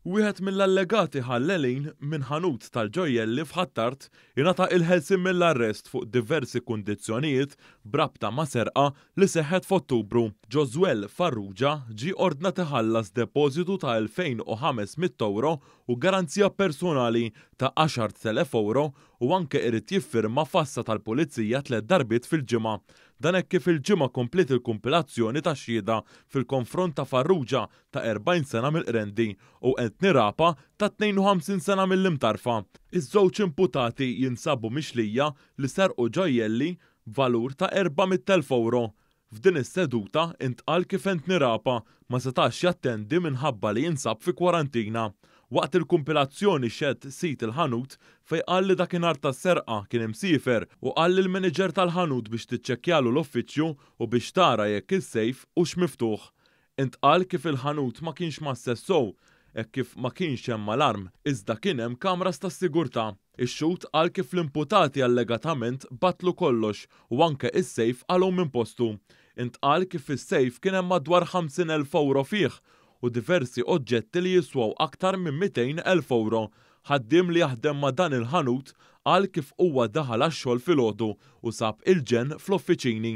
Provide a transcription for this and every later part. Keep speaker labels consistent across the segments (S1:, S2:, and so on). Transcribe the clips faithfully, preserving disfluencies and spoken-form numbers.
S1: Wieħed mill-allegati ħallelin minn ħanut tal-ġojjelli f'Ħ'Attard ingħata il-ħelsien mill-arrest fuq diversi kundizzjonijiet b'rabta ma' serqa li seħħet f'Ottubru. Josuel Farrugia ġie ordnat iħallas depożitu ta' elfejn u ħames mitt euro u garanzija personali ta' għaxart elef euro u anke irid jiffirma f'għassa tal-pulizija tliet darbiet fil-ġimgħa. Dan hekk kif il-Ġimgħa kompliet il-kumpilazzjoni ta' xhieda fil-konfront ta' Farrugia ta' erbgħin sena mill-Qrendi u Anthony Rapa ta' tnejn u ħamsin sena mill-Imtarfa. Iż-żewġ imputati jinsabu mixlija li serqu ġojjelli valur ta' erba' mitt elf euro. F'din is-seduta intqal kif Anthony Rapa ma setax jattendi minħabba li jinsab fi kwarantina. Waqt il-kumpilazzjoni xehed sid il-ħanut fej qal li dakinhar tas-serqa kien imsiefer u qal lil manager tal-ħanut biex tiċċekkjalu l-uffiċċju u biex tara jekk is-sejf hux miftuħ. Intqal kif il-ħanut ma kienx mgħasses sew, hekk kif ma kienx hemm alarm, iżda kien hemm kameras tas-sigurtà. Ix-xhud qal kif l-imputati allegatament battlu kollox u anke is-sejf qalgħu minn postu. Intqal kif is-sejf kien hemm madwar ħamsin elf euro fih u diversi oġġetti li jiswaw aktar minn mitejn elf euro. Ħaddiem li jaħdem ma' dan il-ħanut qal kif huwa daħal għax-xogħol filgħodu u sab il-ġenn fl-uffiċini.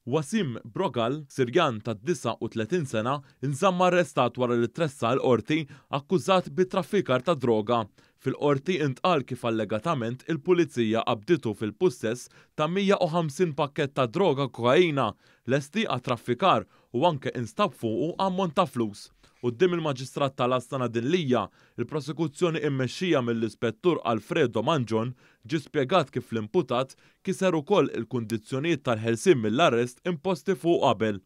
S1: Wasim Brogal, Sirjan ta' disgħa u tletin sena, inżamm arrestat wara li tressaq il-qorti akkużat bi traffikar ta' droga. Fil-qorti intqal kif allegatament il-pulizija qabditu fil-pussess ta' mija u ħamsin pakket ta' droga kokaina lesti għat-traffikar u anke instab fuqu ammont ta' flus. Quddiem il-Maġistrat tal-Għassa Nadine Lia, il-prosekuzzjoni immexxija mill-Ispettur Alfredo Mangion, ġi spjegat kif l-imputat kiser ukoll il-kundizzjonijiet tal-ħelsien mill-arrest imposti fuq qabel.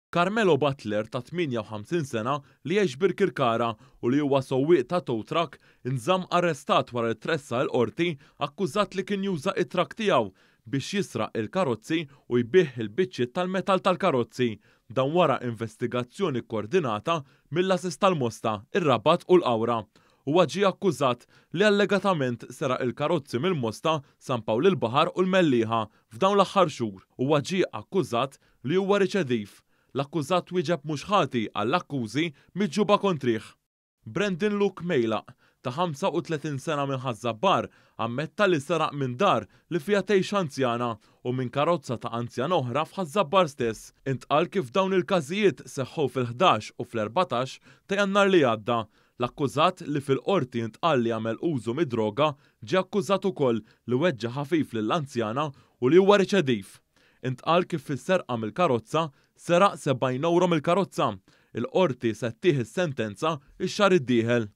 S1: Carmelo Butler ta' tmienja u ħamsin sena li jgħix Birkirkara u li huwa sewwieq ta' tow truck inżamm arrestat wara li tressaq il-qorti akkużat li kien juża it-truck tiegħu biex jisraq il-karozzi u jbigħ il-biċċiet tal-metal tal-karozzi. Dan wara investigazzjoni koordinata mill-għases tal-Mosta, ir-Rabat u l-Qawra. Huwa ġie akkużat li allegatament seraq il-karozzi mill-Mosta, San Pawl il-Baħar u l-Mellieħa f'dawn l-aħħar xhur. Huwa ġie akkużat li huwa riċediv. L-akkużat wieġeb mhux ħati għall-akkużi miġjuba kontrih. Brandon Luke Mejlaq ta' ħamsa u tletin sena minn Ħaż-Żabbar ammetta li seraq minn dar li fiha tgħix anzjana u minn karozza ta' anzjana oħra f'Ħaż-Żabbar stess. Intqal kif dawn il-każijiet seħħu fil-ħdax u fl-erbatax ta' Jannar li għadda. L-akkużat, li fil-qorti intqal li għamel użu mid-droga, ġie akkużat ukoll li weġġa ħafif lill-anzjana u li huwa riċediv. Intqal kif fis-serqa mill-karozza seraq sebgħin euro mill-karozza. Il-qorti se ttih is-sentenza ix-xahar id-dieħel.